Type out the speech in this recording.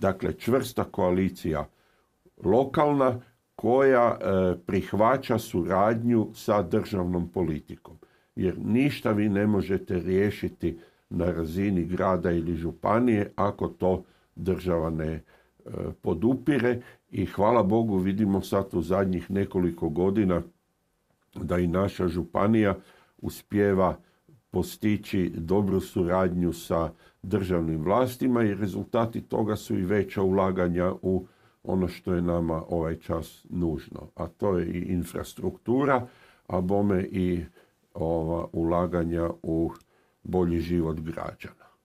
Dakle, čvrsta koalicija lokalna koja prihvaća suradnju sa državnom politikom. Jer ništa vi ne možete riješiti na razini grada ili županije ako to država ne podupire i hvala Bogu vidimo sad u zadnjih nekoliko godina da i naša županija uspijeva postići dobru suradnju sa državnim vlastima i rezultati toga su i veća ulaganja u ono što je nama ovaj čas nužno, a to je i infrastruktura, a bome i ulaganja u bolji život građana.